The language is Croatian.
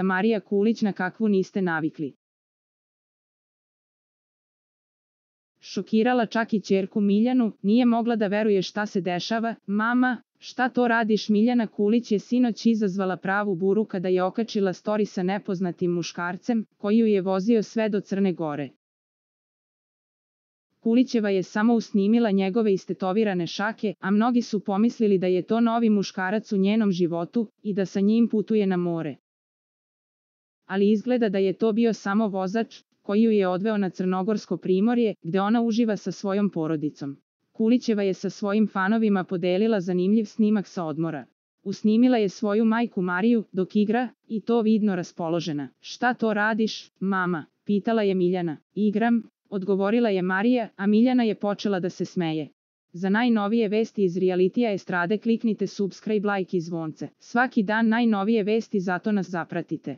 Marija Kulić na kakvu niste navikli. Šokirala čak i ćerku Miljanu, nije mogla da veruje šta se dešava. Mama, šta to radiš? Miljana Kulić je sinoć izazvala pravu buru kada je okačila story sa nepoznatim muškarcem, koji ju je vozio sve do Crne Gore. Kulićeva je samo usnimila njegove istetovirane šake, a mnogi su pomislili da je to novi muškarac u njenom životu i da sa njim putuje na more. Ali izgleda da je to bio samo vozač, koji ju je odveo na crnogorsko primorje, gde ona uživa sa svojom porodicom. Kulićeva je sa svojim fanovima podelila zanimljiv snimak sa odmora. Usnimila je svoju majku Mariju, dok igra, i to vidno raspoložena. Šta to radiš, mama? Pitala je Miljana. Igram, odgovorila je Marija, a Miljana je počela da se smeje. Za najnovije vesti iz realitija estrade kliknite subscribe, like i zvonce. Svaki dan najnovije vesti, zato nas zapratite.